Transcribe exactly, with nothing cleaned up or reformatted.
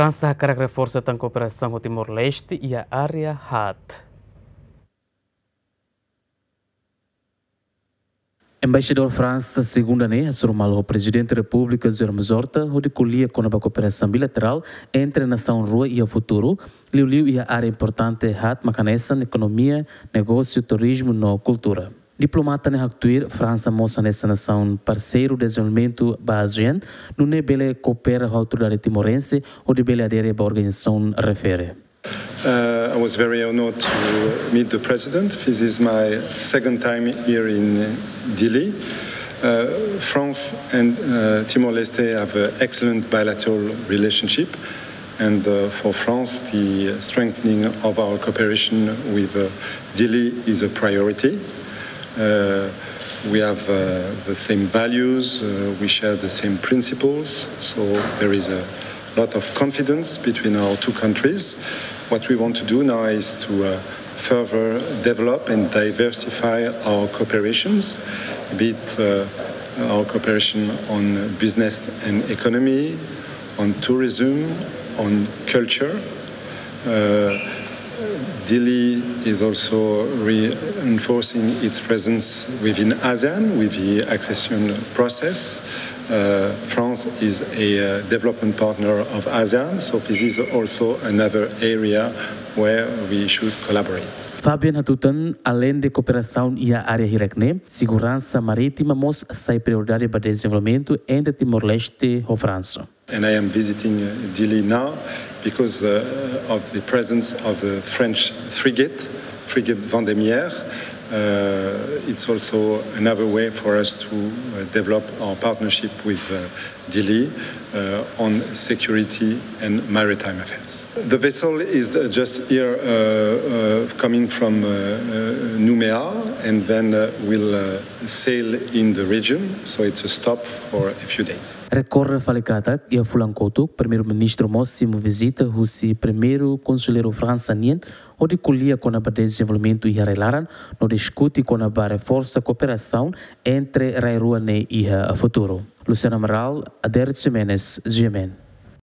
Fransa hakarak reforsa tan kooperasaun ho Timor-Leste iha área haat. Embaixadór Fransa, segunda ne'e, hasoru malu ho Prezidente Repúblika José Ramos Horta hodi ko'alia kona-ba kooperasaun bilaterál entre nasaun rua iha futuru, liuliu iha área importante haat mak hanesan ekonomia, negósiu, turizmu no kultura. Diplomata ne'e haktuir Fransa mós hanesan nasaun parseiru dezenvolvimentu ba ASEAN, nune'e bele koopera ho autoridade timorense hodi bele adere ba organizasaun refere. Uh, I was very honored to meet the president. This is my second time here in Dili. Uh, France and uh, Timor-Leste have an excellent bilateral relationship, and uh, for France, the strengthening of our cooperation with uh, Dili is a priority. Uh, we have uh, the same values, uh, we share the same principles, so there is a lot of confidence between our two countries. What we want to do now is to uh, further develop and diversify our cooperations, be it uh, our cooperation on business and economy, on tourism, on culture. Uh, Dili is also reinforcing its presence within ASEAN with the accession process. Uh, France is a uh, development partner of ASEAN, so this is also another area where we should collaborate. Fabian hatutan, aleinde kooperasaun iha área hirak ne'e, seguransa marítima mós sai prioridade ba dezenvolvimentu entre Timor-Leste ho Fransa. And I am visiting uh, Dili now because uh, of the presence of the French frigate, frigate Vendémiaire. Uh, it's also another way for us to uh, develop our partnership with uh, Dili uh, on security and maritime affairs. The vessel is uh, just here uh, uh, coming from uh, uh, Noumea and then uh, will uh, sail in the region, so it's a stop for a few days. Rekorde fali katak, iha fulan kotuk, Primeiru-Ministru mós simu vizita husi Primeiru Konselleiru Fransa nian, hodi ko'alia kona-ba dezenvolvimentu iha rai-laran, no diskute kona-ba reforsa kooperasaun entre rai rua ne'e iha futuru. Luciana Amaral, Adérito Ximenes, G M N.